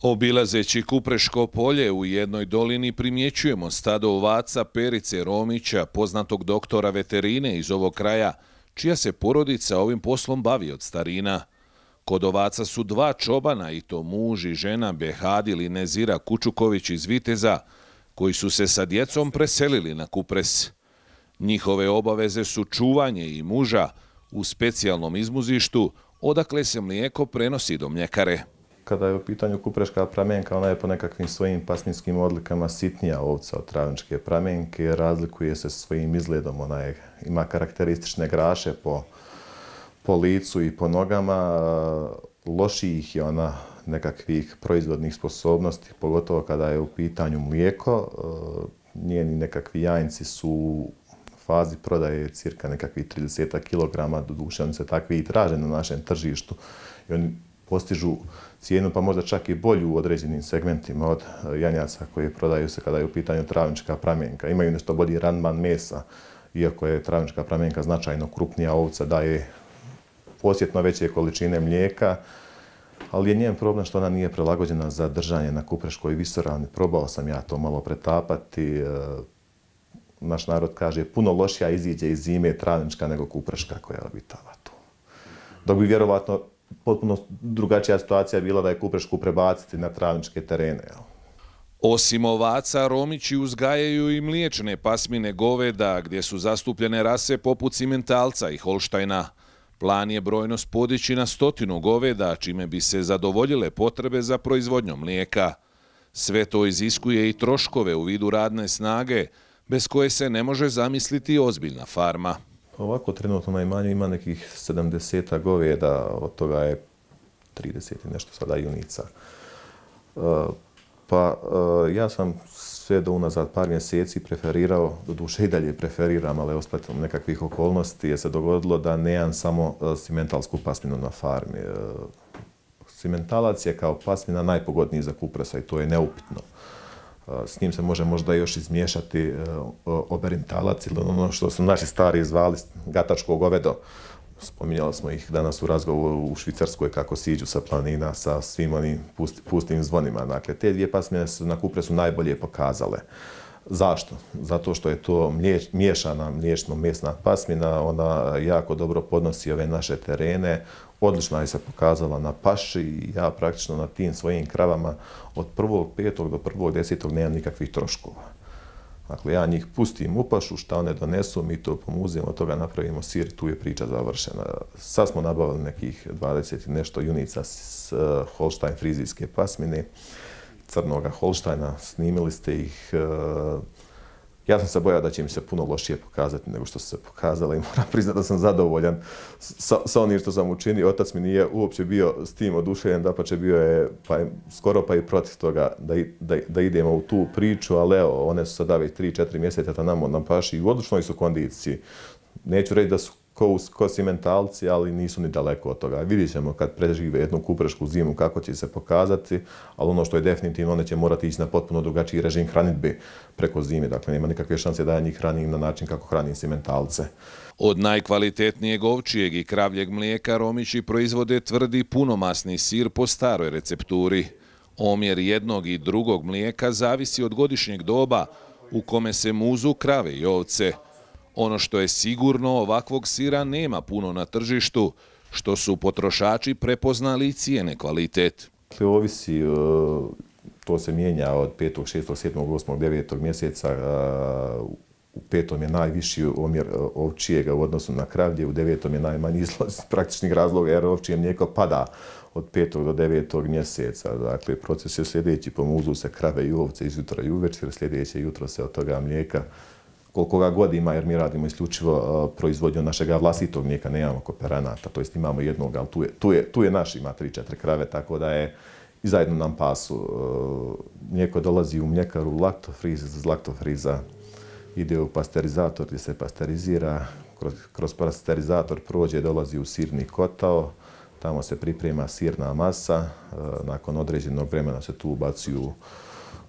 Obilazeći Kupreško polje u jednoj dolini primjećujemo stado ovaca Perice Romića, poznatog doktora veterine iz ovog kraja, čija se porodica ovim poslom bavi od starina. Kod ovaca su dva čobana, i to muž i žena Behadil i Nezira Kučuković iz Viteza, koji su se sa djecom preselili na Kupres. Njihove obaveze su čuvanje i muža u specijalnom izmuzištu, odakle se mlijeko prenosi do mljekare. Kada je u pitanju kupreška pramenka, ona je po nekakvim svojim pasminskim odlikama sitnija ovca od travničke pramenke, razlikuje se svojim izgledom, ona ima karakteristične graše po licu i po nogama, lošijih je ona nekakvih proizvodnih sposobnosti, pogotovo kada je u pitanju mlijeko. Njeni nekakvi jajnici su u fazi prodaje cirka nekakvih 30 kg, doduše oni se takvi i traže na našem tržištu i oni postižu cijenu pa možda čak i bolju u određenim segmentima od janjaca koje prodaju se kada je u pitanju travnička pramenka. Imaju nešto bolji randman mesa, iako je travnička pramenka značajno krupnija ovca, daje osjetno veće količine mlijeka, ali je njen problem što ona nije prilagođena za držanje na kupreškoj visoravni. Probao sam ja to malo pretapati. Naš narod kaže puno lošija iziđe iz zime travnička nego kupreška koja obitava tu. Dok bi vjerovatno potpuno drugačija situacija bila da je kuprešku prebaciti na travničke terene. Osim ovaca, Romići uzgajaju i mliječne pasmine goveda, gdje su zastupljene rase poput Simentalca i Holštajna. Plan je brojnost podići na 100 goveda, čime bi se zadovoljile potrebe za proizvodnjom mlijeka. Sve to iziskuje i troškove u vidu radne snage, bez koje se ne može zamisliti ozbiljna farma. Ovako trenutno na imanju ima nekih 70 goveda, od toga je 30 i nešto sada junica. Ja sam sve do unazad par mjeseci preferirao, doduše i dalje preferiram, ali ospletom nekakvih okolnosti je se dogodilo da nemam samo simentalsku pasminu na farmi. Simentalac je kao pasmina najpogodniji za kupresa i to je neupitno. S njim se može možda još izmiješati oberintalac ili ono što su naši stari zvali gatačko govedo. Spominjali smo ih danas u razgovoru u Švicarskoj kako siđu sa planina sa svim onim pustim zvonima. Dakle, te dvije pasmine su na kupresu najbolje pokazale. Zašto? Zato što je to miješana mliječno-mesna pasmina, ona jako dobro podnosi ove naše terene, odlično je se pokazala na paši i ja praktično na tim svojim kravama od 1.5. do 1.10. nemam nikakvih troškova. Dakle, ja njih pustim u pašu, šta one donesu, mi to pomuzimo, od toga napravimo sir i tu je priča završena. Sad smo nabavili nekih 20 i nešto junica s Holštajn frizijske pasmine, crnoga Holštajna, snimili ste ih. Ja sam se bojao da će mi se puno lošije pokazati nego što su se pokazale i moram priznati da sam zadovoljan sa onim što sam učinio. Otac mi nije uopće bio s tim oduševljen, dapače bio je skoro pa i protiv toga da idemo u tu priču, ali evo, one su sada već 3-4 mjeseca na paši i u odličnoj su kondiciji. Neću reći da su ko simentalci, ali nisu ni daleko od toga. Vidjet ćemo kad prežive jednu kuprešku zimu kako će se pokazati, ali ono što je definitivno, one će morati ići na potpuno drugačiji režim hranidbe preko zime. Dakle, nema nikakve šanse da ja njih hranim na način kako hranim simentalce. Od najkvalitetnijeg ovčijeg i kravljeg mlijeka Romići proizvode tvrdi punomasni sir po staroj recepturi. Omjer jednog i drugog mlijeka zavisi od godišnjeg doba u kome se muzu krave i ovce. Ono što je sigurno, ovakvog sira nema puno na tržištu, što su potrošači prepoznali i cijene kvalitet. Ovisi, to se mijenja od 5., 6., 7., 8., 9. mjeseca. U 5. je najviši omjer ovčijega u odnosu na kravlje, u 9. je najmanji iz praktičnih razloga jer ovčije mlijeko pada od 5. do 9. mjeseca. Dakle, proces je sljedeći, pomuzu se krave i ovce izjutra i uvečer, sljedeće jutro se od toga mlijeka koliko ga god ima, jer mi radimo isključivo proizvodnju našega vlastitog mlijeka, nemamo kooperanata, to jest imamo jednog, ali tu je naš, ima 3-4 krave, tako da je i zajedno nam pasu. Mlijeko dolazi u mljekaru laktofriz, iz laktofriza ide u pasterizator gdje se pasterizira, kroz pasterizator prođe, dolazi u sirni kotao, tamo se priprema sirna masa, nakon određenog vremena se tu ubacuju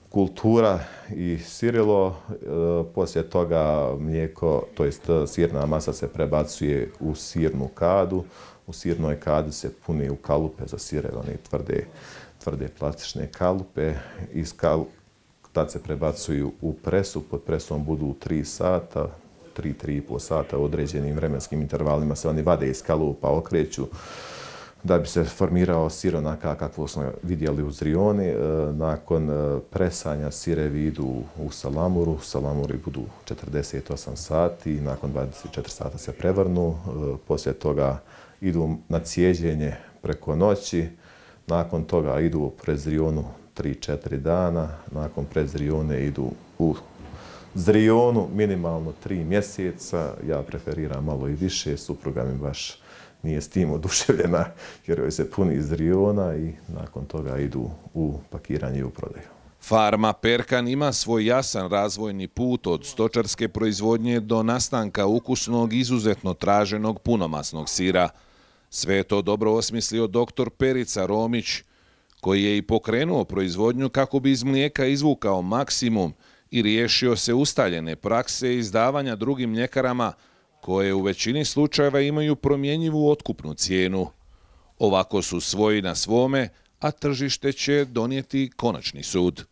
kultura i sirilo, poslije toga mlijeko, to jest sirna masa se prebacuje u sirnu kadu, u sirnoj kadi se puni u kalupe za sireve, one tvrde plastične kalupe. Tad se prebacuju u presu, pod presom budu 3 sata, 3,5 sata u određenim vremenskim intervalima se oni vade iz kalupa, okreću da bi se formirao sir onaka kakvo smo vidjeli u Zrijoni. Nakon presanja sirevi idu u salamuru, salamuri budu 48 sati, nakon 24 sata se prevrnu, poslije toga idu na cijeđenje preko noći, nakon toga idu u prezrijonu 3-4 dana, nakon prezrijone idu u Zrijonu minimalno 3 mjeseca, ja preferiram malo i više, supruga mi baš nije s tim oduševljena jer joj se puni iz Zrijona i nakon toga idu u pakiranje i u prodaju. Farma Perkan ima svoj jasan razvojni put od stočarske proizvodnje do nastanka ukusnog, izuzetno traženog punomasnog sira. Sve je to dobro osmislio dr. Perica Romić, koji je i pokrenuo proizvodnju kako bi iz mlijeka izvukao maksimum i riješio se ustaljene prakse izdavanja drugim mljekarama koje u većini slučajeva imaju promjenjivu otkupnu cijenu. Ovako su svoji na svome, a tržište će donijeti konačni sud.